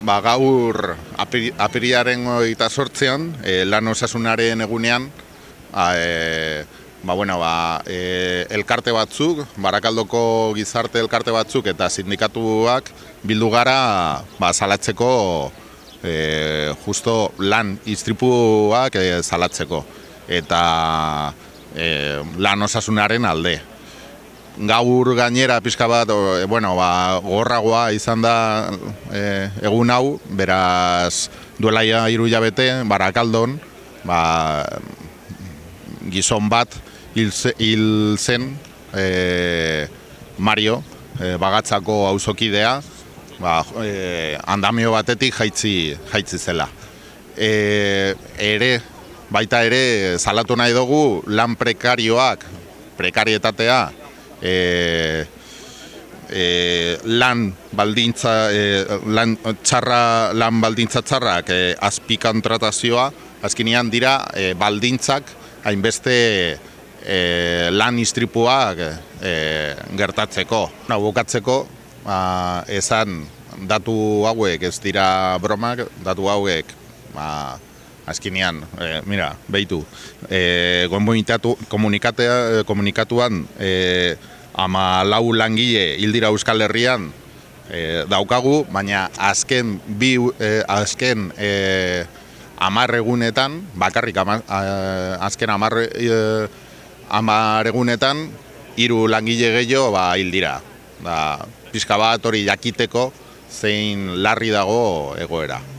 Gaur apirilaren 28an, lan osasunaren egunean, elkarte batzuk, Barakaldoko gizarte elkarte batzuk eta sindikatuak bildu gara salatzeko, justo lan istripuak salatzeko eta lan osasunaren alde. Gaur gainera pixka bat, gogorragoa izan da egun hau, beraz duela 3 hilabete Barakaldon gizon bat hil zen, Mario, Bagatzako auzokidea, andamio batetik jaitsi zela. Baita ere salatu nahi dugu lan prekarietatea, lan baldintza txarrak azpikontratazioa, azkenean dira baldintzak hainbeste lan istripuak gertatzeko. Bukatzeko, esan datu hauek ez dira bromak, datu hauek azkenean, behitu, komunikatuan 14 langile hil dira Euskal Herrian daukagu, baina azken 10 egunetan, bakarrik azken 10 egunetan, 3 langile gehiago hil dira. Pixka bat hori jakiteko zein larri dago egoera.